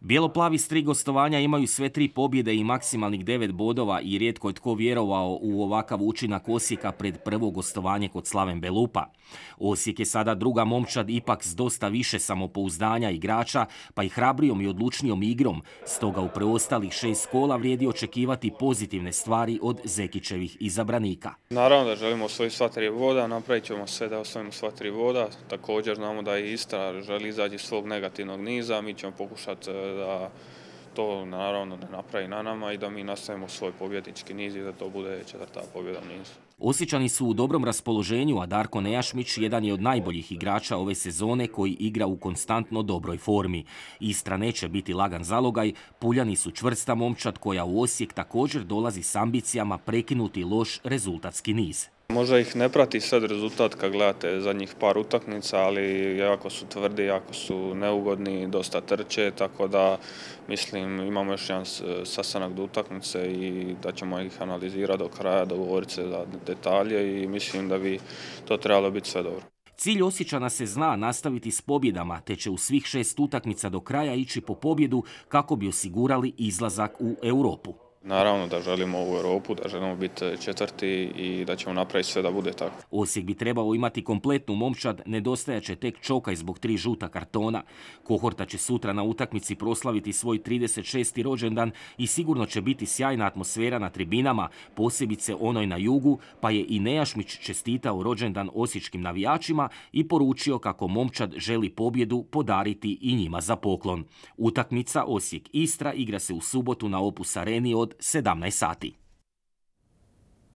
Bijeloplavi s 3 gostovanja imaju sve 3 pobjede i maksimalnih 9 bodova i rijetko je tko vjerovao u ovakav učinak Osijeka pred prvo gostovanje kod Slaven Belupa. Osijek je sada druga momčad ipak s dosta više samopouzdanja igrača, pa i hrabrijom i odlučnijom igrom, stoga u preostalih 6 kola vrijedi očekivati pozitivne stvari od Zekićevih izabranika. Naravno da želimo osvojiti sva 3 boda, napravit ćemo sve da osvojimo sva 3 boda. Također znamo da i Istra želi izaći iz svog negativnog niza, mi ćemo pokušati da to naravno ne napravi na nama i da mi nastavimo svoj pobjednički niz i da to bude 4. pobjeda u nizu. Osječani su u dobrom raspoloženju, a Darko Nejašmić jedan je od najboljih igrača ove sezone koji igra u konstantno dobroj formi. Istra neće biti lagan zalogaj, Puljani su čvrsta momčad koja u Osijek također dolazi s ambicijama prekinuti loš rezultatski niz. Možda ih ne prati sad rezultat kad gledate zadnjih par utakmica, ali jako su tvrdi, jako su neugodni, dosta trče, tako da mislim imamo još jedan sastanak do utakmice i da ćemo ih analizirati do kraja, dogovoriti se za detalje i mislim da bi to trebalo biti sve dobro. Cilj Osječana se zna nastaviti s pobjedama, te će u svih 6 utakmica do kraja ići po pobjedu kako bi osigurali izlazak u Europu. Naravno da želimo u Europu, da želimo biti 4. i da ćemo napraviti sve da bude tako. Osijek bi trebao imati kompletnu momčad, nedostajaće tek Čokaj zbog 3 žuta kartona. Kohorta će sutra na utakmici proslaviti svoj 36. rođendan i sigurno će biti sjajna atmosfera na tribinama, posebice onoj na jugu, pa je i Nejašmić čestitao rođendan osječkim navijačima i poručio kako momčad želi pobjedu podariti i njima za poklon. Utakmica Osijek-Istra igra se u subotu na Opus Areni od 17 sati.